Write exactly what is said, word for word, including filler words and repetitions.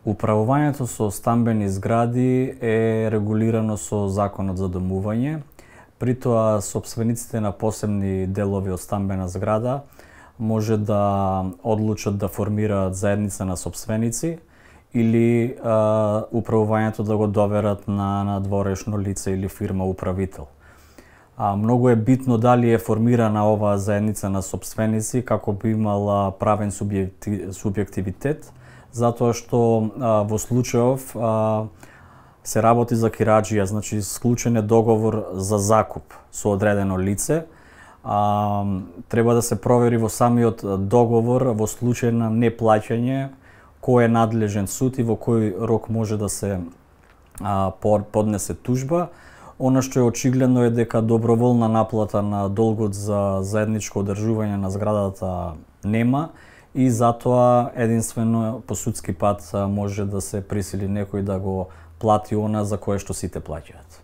Управувањето со стамбени згради е регулирано со Законот за домување. При тоа, сопствениците на посебни делови од стамбена зграда може да одлучат да формираат заедница на сопственици или а, управувањето да го доверат на надворешно лице или фирма управител. А, многу е битно дали е формирана оваа заедница на сопственици како би имала правен субјективитет, затоа што а, во случајов а, се работи за кираџија, значи склучен е договор за закуп со одредено лице. А, треба да се провери во самиот договор во случај на неплаќање кој е надлежен суд и во кој рок може да се а, поднесе тужба. Она што е очигледно е дека доброволна наплата на долгот за заедничко одржување на зградата нема и затоа единствено по судски пат може да се присили некој да го плати она за кое што сите плаќаат.